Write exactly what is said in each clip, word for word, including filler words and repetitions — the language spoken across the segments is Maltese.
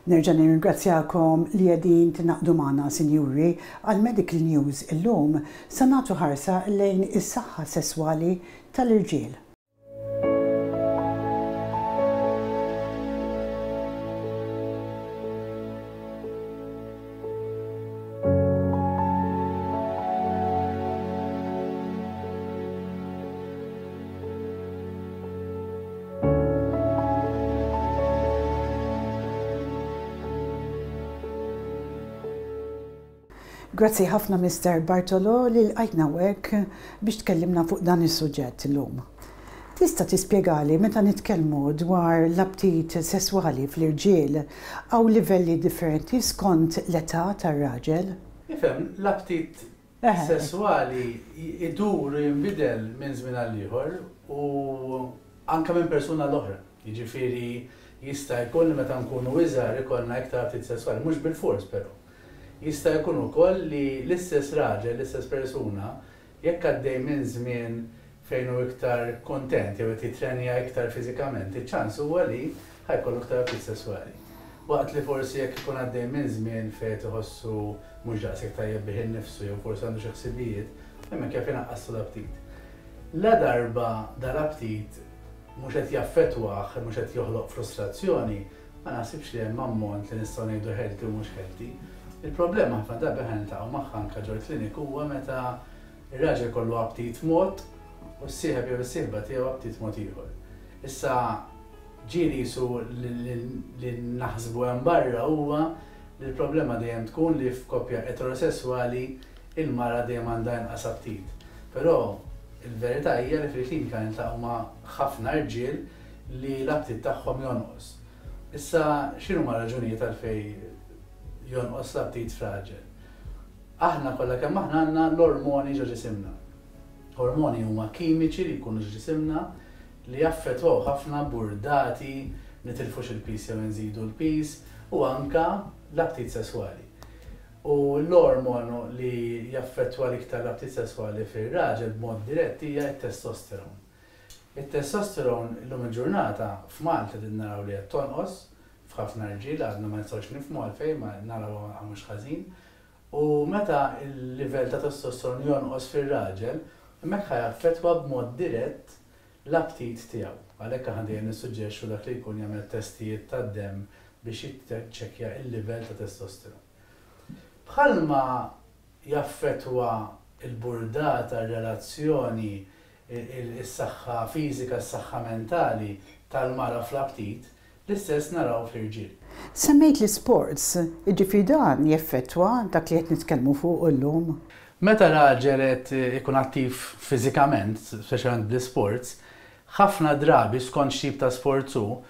Nerġa' nirringrazzjakom li qegħdin tingħaqdu magħna, sinjuri, għal Medical News illum sa nagħtu ħarsa lejn is-saħħa sesswali tal-irġiel. Grazzi ħafna Mister Bartolo li lqajtna hawnhekk biex tkellimna fuq dan is-suġġett illum. Tista' tispjegali meta nitkellmu dwar l-aptit sesswali fl-irġiel hawn livelli differenti skont l-età tar-raġel? Ifhem, l-aptit sesswali idur u jinbidel minn żmien għal ieħor u anke minn persuna l-oħra. Jiġifieri jista' jkun li meta nkunu iżgħar ikollna iktar aptit sesswali, mhux bilfors però. Jista' jkun ukoll li l-istess raġel, l-istess persuna, jekk għaddej minn żmien fejn hu iktar kontent jew qed jitrenja iktar fiżikament, iċ-ċans huwa li ħa jkollu iktar aptit sesswali. Waqt li forsi jekk ikun għaddej minn żmien fejn qed iħossu mhux daqshekk tajjeb bih innifsu jew forsi għandu xi ħsibijiet, hemmhekk jaf inaqqaslu l-aptit. La darba dal-aptit mhux qed jaffettwah, mhux qed joħloq frustrazzjoni, ma naħsibx li hemm ammont li nistgħu ngħidu healthy u mhux healthy. Il-problema ħafna drabi aħna niltaqgħu magħha anke ġol-klinik huwa meta r-raġel kollu aptit mod u s-sieħeb jew is-sieħba tiegħu aptit mod ieħor. Issa ġieli jisu li naħsbu hemm barra huwa li l-problema dejjem tkun li f'koppja eterosesswali il-mara dejjem għandha inqas aptit. Però il-verità hija li fil-klinika niltaqgħu ma' ħafna rġiel li l-aptit tagħhom jonqos. Issa x'inhuma raġunijiet għalfejn jonqos l-aptit f'raġel? Aħna kollha kemm aħna għandna l-ormoni ġo ġisimna. Ormoni huma kimiċi li jkunu ġo ġisimna li jaffettwaw ħafna burdati, nitilfux il-pis jew nżidu l-pis u anka l-aptit sesswali. U l-ormonu li jaffettwa l-iktar l-aptit sesswali fir-raġel b'mod dirett hija t-testosteron. It-testosteron illum il-ġurnata f'Malta din naraw li qed tonqos f'ħafna rġiel, għadna ma nistgħux nifhmu għalfejn, ma naraw mhux ħażin. U meta l-livell ta' testosteron jonqos fir-raġel, hemmhekk ħa jaffettwa b'mod dirett l-aptit tiegħu. Għalhekk aħna dejjem nissuġġerixxu dak li jkun jagħmel testijiet tad-demm biex jiċċekkja l-livell ta' testosteron. Bħalma jaffettwa l-burdata, r-relazzjoni, is-saħħa fiżika, s-saħħa mentali tal-mara fl-aptit, l-istess naraw fl-irġiel. Semmejt l-sports, jiġifieri dan jeffettwa dak li qed nitkellmu fuq illum? Meta raġel qed ikun attiv fiżikament, speċjalment bl-sports, ħafna drabi skont x'tip ta' sports hu,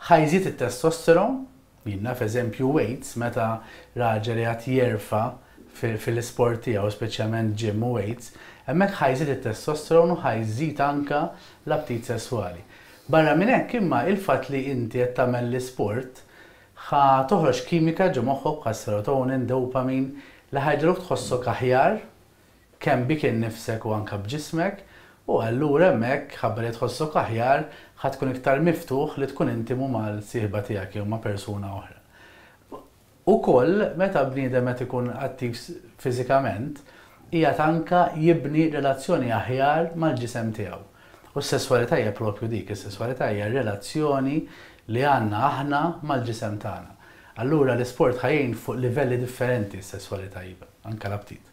ħa jżid it-testosteron, jien naf eżempju weights, meta raġel qed jerfa' fil-sport tiegħu, speċjalment gym u weights, hemmhekk ħa jżid it-testosteron u ħa jżid anka l-aptit sesswali. Barra minn hekk imma il-fatt li inti qed tagħmel l-isport ħa toħroġ kimika ġo moħħok bħal serotonin, dopamine, li ħa jġegħluk tħossok aħjar kemm bik innifsek u anke b'ġismek, u allura hemmhekk ħabba li tħossok aħjar ħa tkun iktar miftuħ li tkun intimu mal-sieħba tiegħek jew ma' persuna oħra. Ukoll meta bniedem qed ikun attiv fiżikament, qiegħed anke jibni relazzjoni aħjar mal-ġisem tiegħu. U s-sesswalità hija propju dik, is-sesswalità hija relazzjoni li għandna aħna mal-ġisem tagħna. Allura l-isport ħa jgħin fuq livelli differenti s-sesswalità iva, anke l-aptit.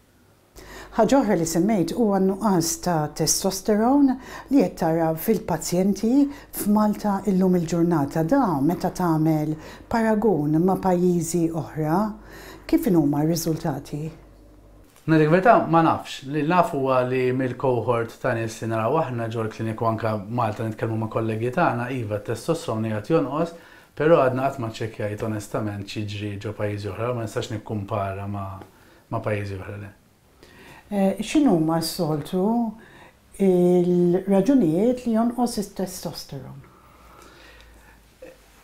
Ħaġa oħra li semmejt huwa n-nuqqas ta' testosteron li qed tara fil-pazjenti f'Malta illum il-ġurnata. Da meta tagħmel paragun ma' pajjiżi oħra, kif inhuma r-riżultati? Ngħidlek verità ma nafx. Li naf huwa li mill-cohort ta' nies li naraw aħna ġol-kliniku anke Malta nitkellmu ma' kollegi tagħna, iva t-testosteron qiegħed jonqos, però għadna qatt ma ċċekkjajt onestament x'jiġri ġo pajjiżi oħra, ma nistax nikkumpara ma' pajjiżi oħra le. X'inhuma s-soltu il-raġunijiet li jonqos it-testosteron?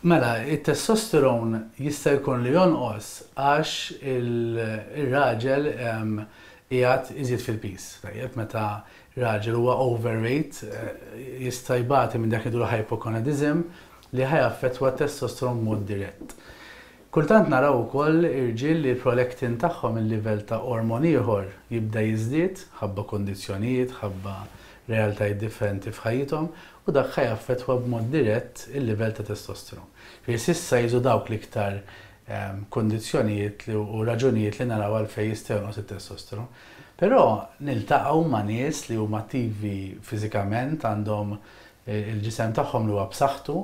Mela, it-testosteron jista' jkun li jonqos għax il-raġel qiegħed iżid fil-pis. Tajjeb, meta raġel huwa overweight, jista' jbati minn dak li jgħidu hypogonadism li ħa jaffettwa t-testosteron b'mod dirett. Kultant naraw ukoll irġiel li l-prolactin tagħhom, il-livell ta' ormon ieħor, jibda jiżdied ħabba kondizzjonijiet, ħabba realtajiet differenti f'ħajjithom, u dak ħa jaffettwa b'mod dirett il-livell ta' testosteron. Fi s'issa jiżu dawk l-iktar ehm, kondizzjonijiet u raġunijiet li naraw għalfejn jista' jonqos it-testosteron. Però niltaqgħu ma' nies li huma attivi fiżikament, għandhom eh, il-ġisem tagħhom li huwa b'saħħtu,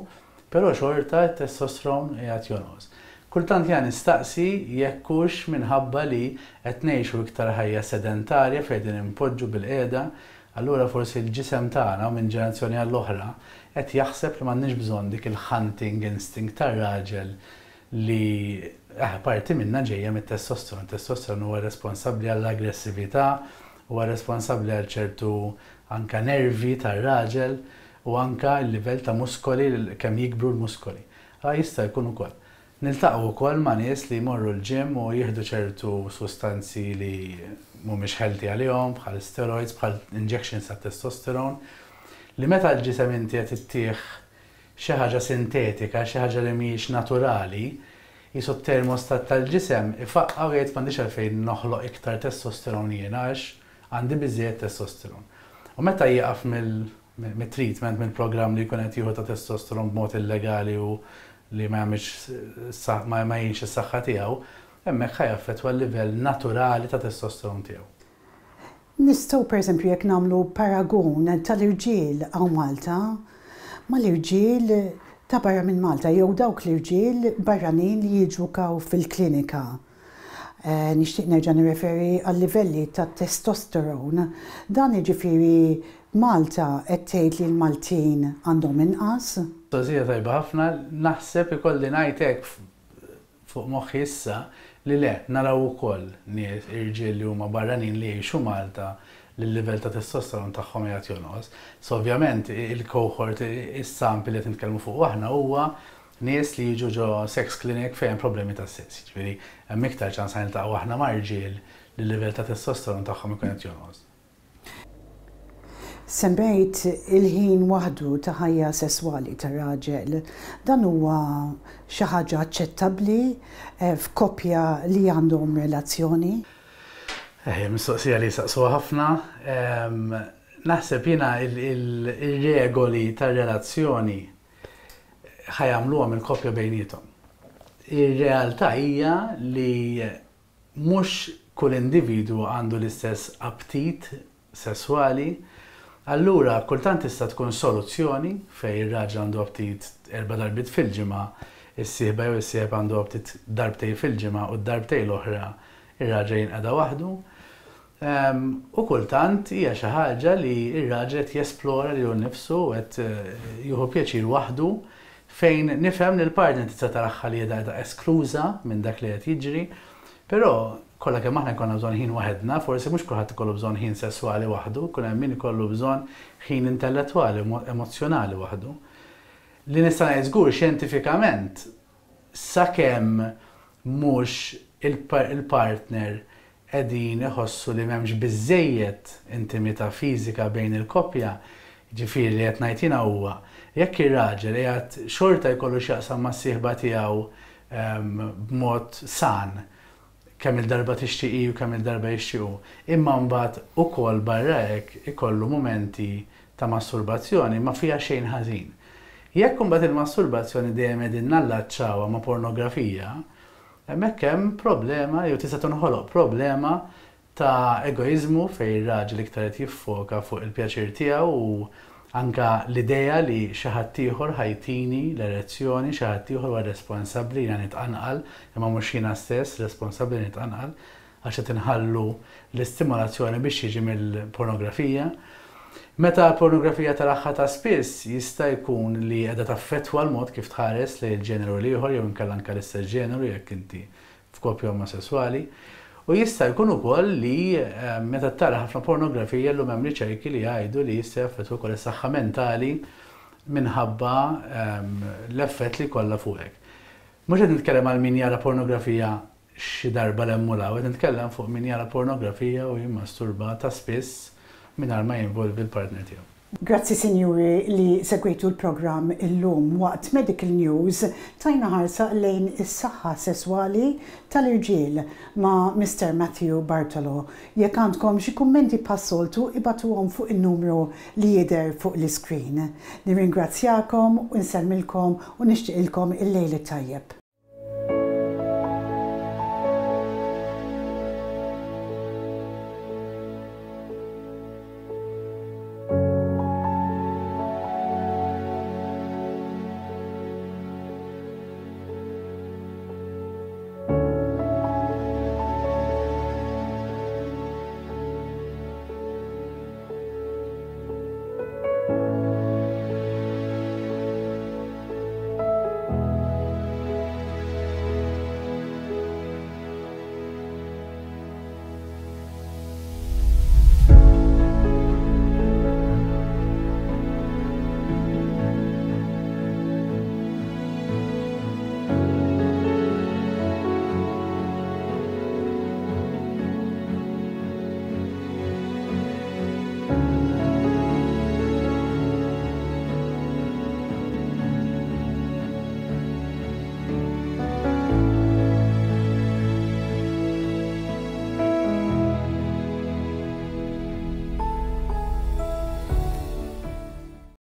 però xorta t-testosteron qiegħed jonqos. Kultant jien nistaqsi jekk hux minħabba li qed ngħixu iktar ħajja sedentarja fejn din impoġġu bil-qiegħda, allura forsi l-ġisem tagħna minn ġenerazzjoni għall-oħra qed jaħseb li m'għandniex bżonn dik il-hunting instinct tar-raġel li eh, parti minna ġejja mit-testosteron. Testosteron huwa responsabbli għall-aggressività, huwa responsabbli għal ċertu anka nervi tar-raġel u anka l-livell ta' muskoli, kemm jikbru l-muskoli. Ah, jista' jkun ukoll. Niltaqgħu wkoll ma' nies li jmorru l-gym u jieħdu ċertu sustanzi li mhumiex healthy għalihom, bħal steroids, bħal injections ta' testosteron, li meta l-ġisem inti qed ittih xi ħaġa sintetika, xi ħaġa li mhijiex naturali, jisu termostat tal-ġisem ifaqqa u jgħid, "M'għandix għalfejn noħloq iktar testosteron jiena għax għandi biżejjed testosteron." U meta jieqaf mill-treatment, mill-programm li jkun qed jieħu ta' testosteron b'mod illegali u li ma jagħmilx ma jgħinx is-saħħa tiegħu, hemmhekk ħa jaffettwa l-livell naturali ta' testosteron tiegħu. Nistgħu, pereżempju, jekk nagħmlu paragun tal-irġiel hawn Malta mal-irġiel ta' barra minn Malta jew dawk l-irġiel barranin li jiġu hawn fil-klinika. Eh, nixtieq nerġa' nirreferi għal livelli ta' testosteron. Dan jiġifieri Malta qed tgħid li l-Maltin għandhom inqas? Mistoqsija tajba ħafna. Naħseb ikolli ngħidlek fuq moħħi issa li le, naraw ukoll nies irġiel li huma barranin li jgħixu Malta li l-livell ta' testosteron tagħhom qiegħed jonqos. So ovvjament il-cohort, is-sample li qed nitkellmu fuq aħna huwa nies li jiġu ġo sex clinic fejn problemi ta' sess. Ġifieri hemm iktar ċans niltaqgħu aħna ma' rġiel li l-livell ta' testosteron tagħhom ikun qed jonqos. Semmejt il-ħin waħdu ta' ħajja sesswali ta' raġel. Dan huwa xi ħaġa aċċettabbli eh, f'koppja li għandhom relazzjoni? Eh, mistoqsija li saqsuha ħafna. Naħseb jiena il-regoli tar-relazzjoni ħa jagħmluhom il-koppja bejniethom. Ir-realtà hija li mhux kull individu għandu l-istess aptit sesswali. Allura kultant tista' tkun soluzzjoni fej ir-raġel għandu aptit erba' darbiet fil-ġimgħa, is-sieħba jew is-sieħeb għandu aptit darbtej fil-ġimgħa u d-darbtej l-oħra ir-raġel jinqeda waħdu. U kultant hija xi ħaġa li r-raġel qed jesplora lilu nnifsu, qed eh, jieħu pjaċir waħdu, fejn nifhem li l-partner tista' taraha li qiegħda eskluża minn dak li qed jiġri, però kollha kemm aħna jkollna bżonn ħin waħedna, forsi mhux kulħadd ikollu bżonn ħin sesswali waħdu, kun hemm min ikollu bżonn ħin intellettwali, emozzjonali waħdu. Li nista' ngħid żgur xjentifikament, sakemm mhux il-partner qegħdin iħossu li m'hemmx biżejjed intimità fiżika bejn il-koppja, ġifieri li qed ngħid jiena huwa jekk ir-raġel qiegħed xorta jkollu x'jaqsam mas-sieħba tiegħu ehm, b'mod san, kemm il-darba tixtieqi u kemm il-darba jixtiequ. Imma mbagħad ukoll barra hekk ikollu mumenti ta' masturbazzjoni, ma fiha xejn ħażin. Jekk imbagħad il-masturbazzjoni dejjem qegħdin nallaċċawha ma' pornografija, hemmhekk hemm problema jew tista' tinħoloq problema ta' egoizmu fejn ir-raġel iktar qed jiffoka fuq il-pjaċir tiegħu u anka l-idea li xi ħadd ieħor ħa jtini l-erezzjoni, xi ħadd ieħor huwa responsabbli jiena nitqanqal, imma mhux jiena stess responsabbli nitqanqal, għax qed inħallu l-istimolazzjoni biex jiġi mill-pornografija. Meta l-pornografija taraha ta' spiss, jista' jkun li qiegħda taffettwa l-mod kif tħares lejn il-ġeneru l-ieħor jew inkella anke l-istess ġeneru jekk inti f'koppja omosessuali. U jista' jkun ukoll li eh, meta tara ħafna pornografija, llum hemm riċerki li jgħidu li jista' jaffettwa wkoll is-saħħa mentali minħabba ehm, l-effett li kollha fuqek. Mhux qed nitkellem għal min jara pornografija xi darba 'l hemm u 'l hawn, qed nitkellem fuq min jara pornografija u jimmasturba ta' spiss mingħajr ma jinvolvi l-partner tiegħu. Grazzi, sinjuri, li segwejtu l-programm illum. Waqt Medical News tajna ħarsa lejn is-saħħa sesswali tal-irġiel ma' Mister Matthew Bartolo. Jekk għandkom xi kummenti, bħas-soltu ibagħtuhom fuq il-numru li jidher fuq l-iskrin. Nirringrazzjakom u nsellmilkom u nixtieqilkom il-lejl tajjeb.